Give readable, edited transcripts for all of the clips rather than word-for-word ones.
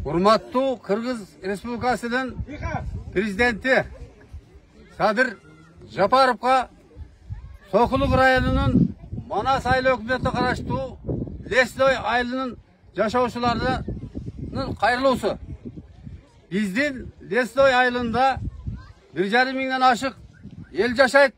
Урматтуу Кыргыз Республикасынын президенти Садыр Жапаровго Сокулук районунун Манас айыл өкмөтүнө караштуу Лесной айылынын жашоочуларынын кайрылуусу. Биздин Лесной айылында 1,5 миңден ашык ел жашайт.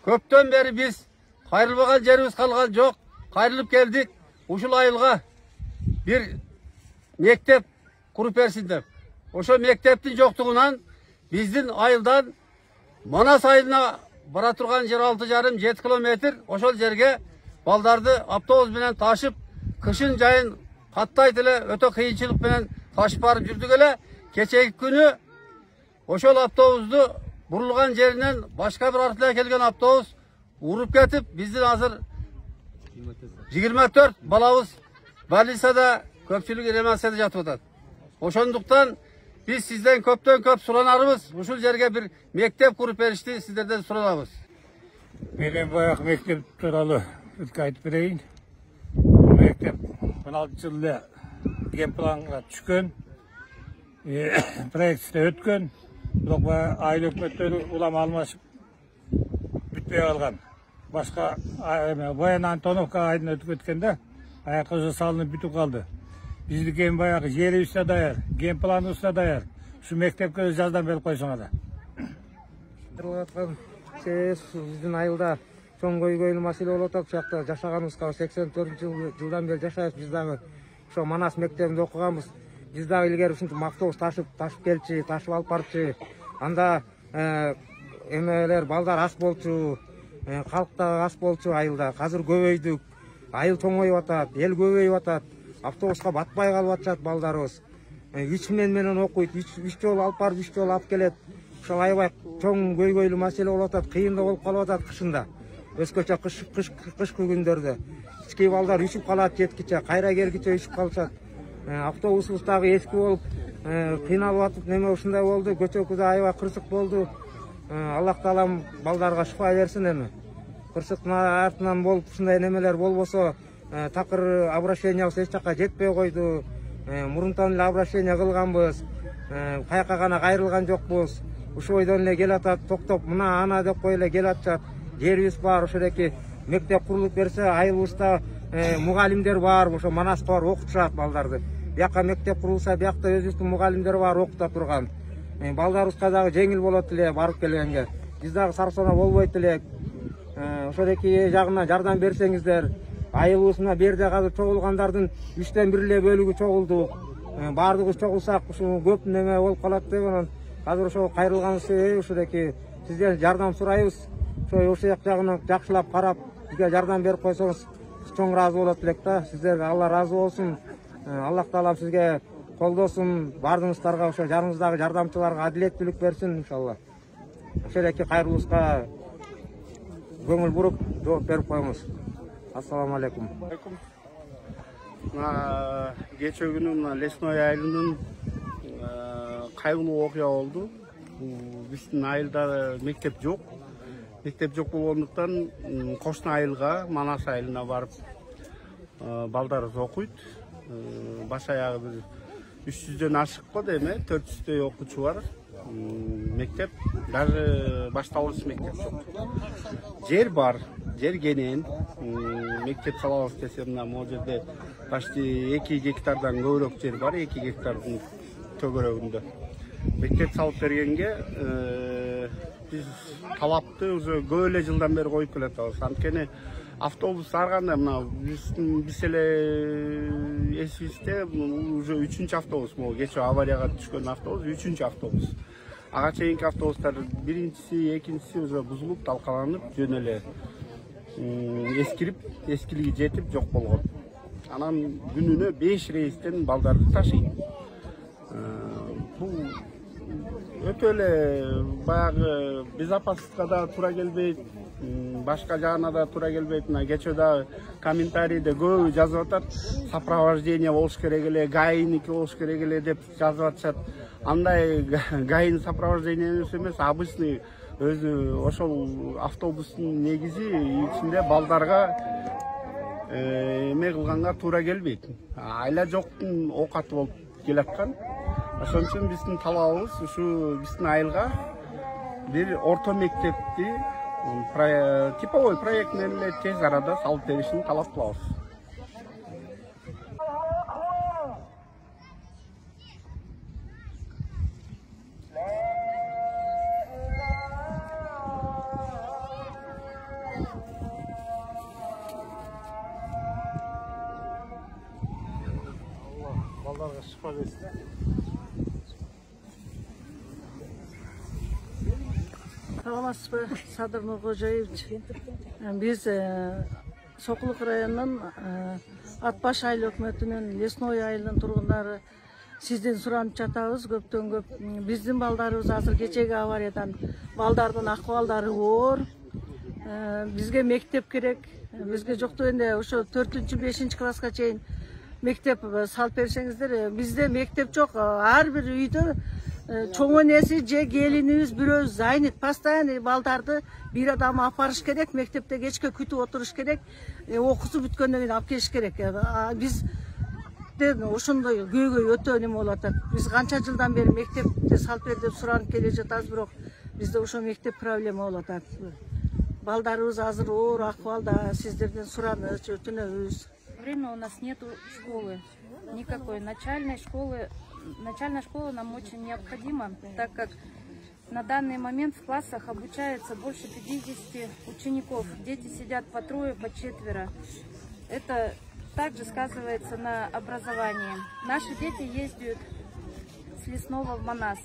Көптөн бери биз кайрылбаган жерибиз калган жок. Кайрылып келдик. Ушул айылга бир мектеп куруп берсин деп. Ошо мектептин жоктугунан биздин айылдан Манас айылына бара турган жер 6,5-7 километр. Ошол жерге балдарды автобус менен ташып, кышын жайын каттайт эле өтө кыйынчылык менен ташып барып жүрдүк эле. Кечеги күнү ошол автобусту бурулган жеринен башка бир артынан келген автобус уруп кетип, биздин азыр 24 балабыз больницада, көпчүлүгү реанимацияда жатып атат. Ошондуктан биз сизден көптөн көп суранарыбыз, ушул жерге бир мектеп куруп беришти сиздерден суранабыз. Мен баягы мектеп тууралуу айтып берейин. Мектеп 16-жылы эле генпланга түшкөн, проектте өткөн, бирок айыл өкмөттөрү улам алмашып бүтпөй калган. Башка Баян Антоновка айдын өтүп кеткенде аякка уже салынып бүтүп калды. Биздики эми баягы жерибиз да даяр, генпланыбыз да даяр. Ушу мектепке жаздан берип койсоңор. Биздин айылда чоң көйгөйлүү маселе болуп атат. Ушакта жашаганыбызга 84-жылдан бери жашайбыз. Биз дагы ошо Манас мектебинде окуганбыз. Биз дагы илгери ушинтип автобус ташып келчи, ташып алып барчы. Анда эмелер балдар аз болчу, калк да аз болчу айылда. Азыр көбөйдүк. Айыл чоңоюп атат, эл көбөйүп атат. Автобуска батпай калып атышат балдарыбыз. 3 менен окуйт, 3 жолу алып барып, 3 жолу алып келет. Ошол аябай чоң көйгөйлүү маселе болуп атат, кыйын да болуп калып атат кышында. Өзгөчө кышкы күндөрдө. Кички балдар үшүп калат жеткиче, кайра келгиче үшүп калышат. Автобусубуз дагы эски болуп, кыйналып атып, неме ушундай болду. Көчөкү да аябай кырсык болду. Аллах таалам балдарга шифа берсин эми. Кырсыктын артынан болуп ушундай немелер болбосо, такыр обращениябыз эч жакка жетпей койду. Мурунтан эле обращение кылганбыз. Каяка гана кайрылган жокпуз. Ушул ойдон эле келатат, токтоп мына ана деп кой эле келатышат. Жерибиз бар, ошондоки мектеп курулуп берсе, айылыбызда мугалимдер бар, ошо Манаска бар окутушат балдарды. Бияка мектеп курулса, биякта өзүбүздүн мугалимдер бар окута турган. Балдарыбызга дагы жеңил болот эле барып келгенге. Биз дагы сарсона болбойт элек. Ошондоки жагынан жардам берсеңиздер. Айылыбыз мына берде азыр чогулгандардын 3тен 1 эле бөлүгү чогулду. Бардыгыбыз чогулсак, ушул көп неме болуп калат деп анан азыр ошо кайрылганыбыз себеби ошондоки сизден жардам сурайбыз. Ошо жагынан жакшылап карап, бизге жардам берип койсоңуз чоң ыраазы болот элек да. Сиздерге Алла ыраазы болсун. Аллах таалам сизге колдосун. Бардыгыңыздарга ошо жаныңыздагы жардамчыларга адилеттүүлүк берсин иншалла. Ошондоки кайрылуубузга көңүл буруп жооп берип коебуз. Ассаламу алейкум. Кечээ күнү мына Лесной айылынын кайгылуу окуя болду. Биздин айылда мектеп жок. Мектеп жок болгондуктан кошуна айылга, Манас айылына барып балдарыбыз окуйт. Баш аягы бир 300дөн ашык го деме, 400дөй окуучу бар. Мектеп даже башталгыч мектеп жок. Жер бар, жер кенен. Мектеп салабыз десе мына могу жерде почти 2 гектардан көбүрөөк жер бар, 2 гектардын төгөрөгүндө. Мектеп салып бергенге биз талапты уже көп эле жылдан бери коюп келатабыз. Анткени автобус ар кандай мына биз эле эсибизде уже 3-чү автобус, могу кечээ аварияга түшкөн автобус 3-чү автобус. Ага чейинки автобустар биринчиси, экинчиси уже бузулуп, талкаланып, жөн эле эскирип, эскилиги жетип жок болгон. Анан күнүнө 5 рейстен балдарды ташыйт. Бул өтө эле баягы безопасностька да туура келбейт, башка жагына да туура келбейт. Мына кечээ да комментарийде көбү жазып атат, сопровождение болуш керек эле, гаийники болуш керек эле деп жазып атышат. Андай гаин сопровождение эмес, обычный өзү ошол автобустун негизи ичинде балдарга эме кылганга туура келбейт. Айла жоктун оокаты болуп келаткан. Ошон үчүн биздин талабыбыз ушу биздин айылга бир орто мектепти типовой проект менен эле тез арада салып беришин талап кылабыз. Балдарга шифа берсин. Саламатсызбы, Садыр Нуркожоевич. Биз Сокулук районунун Атбаш айыл өкмөтүнүн Лесной айылынын тургундары сизден суранып жатабыз көптөн көп. Биздин балдарыбыз азыр кечеги авариядан балдардын акыбалдары оор. Бизге мектеп керек. Бизге жок дегенде ошо 4-5 класска чейин мектеп салып берсеңиздер. Бизде мектеп жок. Ар бир үйдө чоң энеси же келинибиз бирөө зайнет, постоянно балдарды бир адам апарыш керек, мектепте кечке күтүп отуруш керек, окуусу бүткөндөн кийин алып келиш керек. Биз ошондой көйгөй өтө неме болуп атат. Биз канча жылдан бери мектепти салып бер деп суранып келе жатабыз, бирок бизде ошо мектеп проблема болуп атат. Балдарыбыз азыр оор акыбалда, сиздерден суранычы өтүнөбүз. Время у нас нету школы, никакой начальной школы. Начальная школа нам очень необходима, так как на данный момент в классах обучается больше 50 учеников. Дети сидят по трое, по четверо. Это также сказывается на образовании. Наши дети ездят с Лесного в Манас.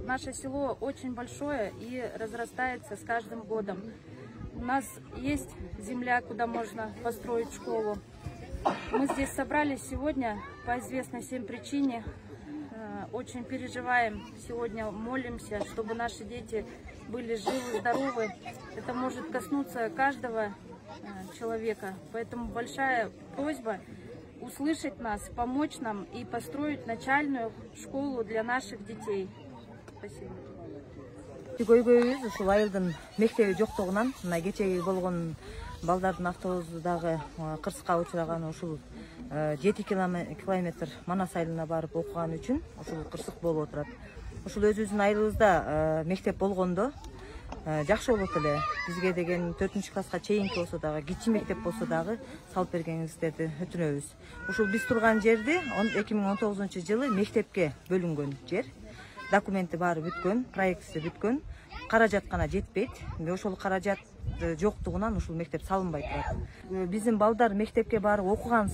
Наше село очень большое и разрастается с каждым годом. У нас есть земля, куда можно построить школу. Мы здесь собрались сегодня по известной всем причине. Очень переживаем сегодня, молимся, чтобы наши дети были живы, здоровы. Это может коснуться каждого человека. Поэтому большая просьба услышать нас, помочь нам и построить начальную школу для наших детей. Спасибо. Көйгөйүбүз ушул айылдын мектеби жоктугунан, мына кечеги болгон балдардын автобусу дагы кырсыкка учураганы ушул 7 километр Манас айылына барып окуган үчүн ушул кырсык болуп отурат. Ушул өзүбүздүн айылыбызда мектеп болгондо жакшы болот эле. Бизге деген 4-класска чейинки болсо дагы, кичи мектеп болсо дагы салып бергениңиздерди өтүнөбүз. Ушул биз турган жерди 2019-жылы мектепке бөлүнгөн жер. Документи баары бүткөн, проектisi бүткөн. Каражат гана жетпейт. Ошол каражат жоктугунан ушул мектеп салынбай турат. Биздин балдар мектепке барып окуган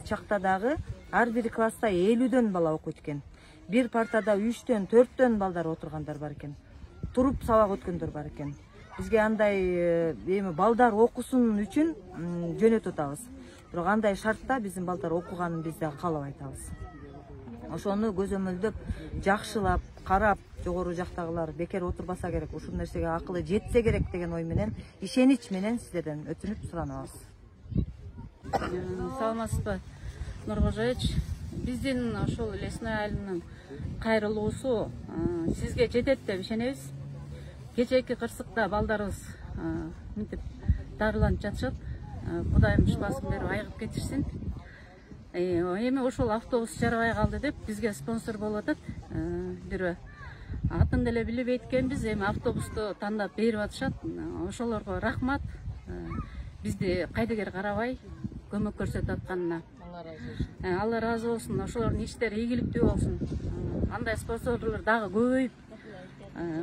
чакта дагы ар бир класста 50дөн бала окуйт экен. Бир партада 3-төн, 4төн балдар отургандар бар экен. Туруп сабак өткөндөр бар экен. Бизге андай балдар окусун үчүн жөнөтүп атабыз. Бирок андай шартта биздин балдар окуганын биз да каалап айтабыз. Ошону көзөмөлдөп, жакшылап, карап, жогору жактагылар бекер отурбаса керек, ушул нерсеге акылы жетсе керек деген ой менен, ишенич менен сиздерден өтүнүп суранабыз. Саламатсызбы, Нуркожоевич. Биздин ошол Лесной айылынын кайрылуусу сизге жетет деп ишенебиз. Кечээки кырсыкта балдарыбыз мынтип дарыланып жатышат. Кудайым шифасын берип айыгып кетишсин. Эми ошол автобус жарабай калды деп бизге спонсор болуп атат. Бирөө атын деле билбейт экенбиз, эми автобусту тандап берип атышат. Ошолорго рахмат. Бизди кайдыгер карабай көмөк көрсөтүп атканына. Алла разы болсун. Ошолордун иштери ийгиликтүү болсун. Андай спонсорлор дагы көбөйүп,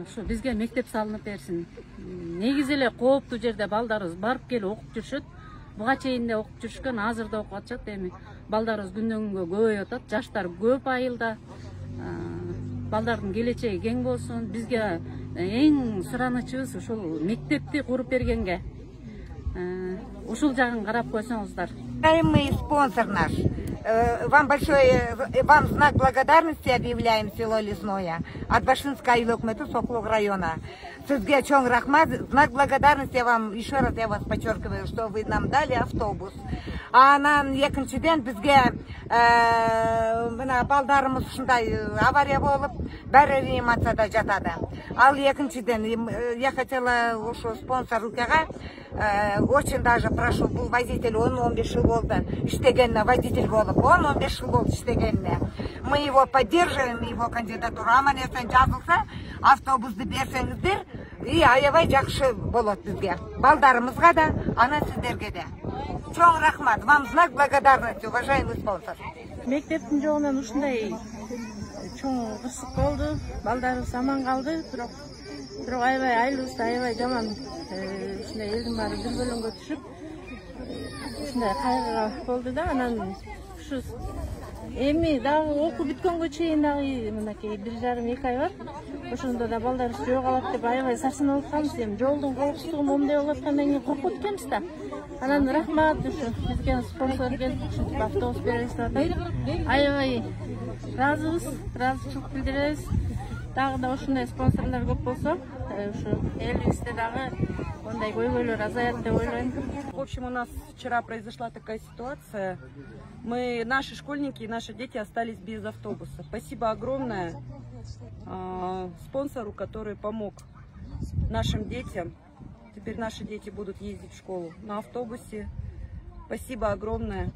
ушу бизге мектеп салынып берсин. Негизи эле кооптуу жерде балдарыбыз барып келип окуп жүрүшөт. Буга чейин де окуп жүрүшкөн, азыр да окуп атышат. Эми балдарыбыз күндөн күнгө көбөйүп атат. Жаштар көп айылда. Балдардын келечеги кең болсун. Бизге эң суранычыбыз ушул мектепти куруп бергенге. Ушул жагын карап койсоңуздар. Уважаемый спонсор наш, вам знак благодарности объявляем село Лесное от Башинской айыл өкмөтү Сокулук района. Сизге чоң рахмат, знак благодарности вам, еще раз я вас подчеркиваю, что вы нам дали автобус. Анан экинчиден бизге мына балдарыбыз ушундай авария болуп, баары реанимацияда жатады. Ал экинчиден я хотела ушу спонсор укага очень даже прошу, бул водитель 10-15 жыл болду иштегенине водитель болуп. башталып 10-15 жыл болду иштегенине. Мы его поддерживаем, его кандидатура. Аман эсен жазылса, автобусты берсеңиздер, и аябай жакшы болот бизге. Балдарыбызга да, анан сиздерге да. Чоң рахмат. Вам знак благодарности, уважаемый спонсор. Мектептин жогунан ушундай чоң кырсык болду. Балдарыбыз аман калды, бирок аябай айлыбыз аябай жаман. Ушундай элдин баары дүрбөлөңгө түшүп, ушундай кайгыга болду да. Анан ушу эми дагы окуу бүткөнгө чейин дагы мынакей 1,5-2 ай бар. Ошондо да балдарыбыз жөө калат деп аябай сарсанып атканбыз. Эми жолдун коопсуздугу момундай болуп аткандан кийин коркуп атканбыз да. Анан рахмат ушу бизге спонсор келип ушинтип автобус беребиз деп атат. Аябай ыраазыбыз, ыраазычылык билдиребиз. Дагы да ушундай спонсорлор көп болсо, ушу элибизде дагы мындай көйгөйлөр азаят деп ойлойм. В общем, у нас вчера произошла такая ситуация. Наши школьники и наши дети остались без автобуса. Спасибо огромное спонсору, который помог нашим детям. Теперь наши дети будут ездить в школу на автобусе. Спасибо огромное.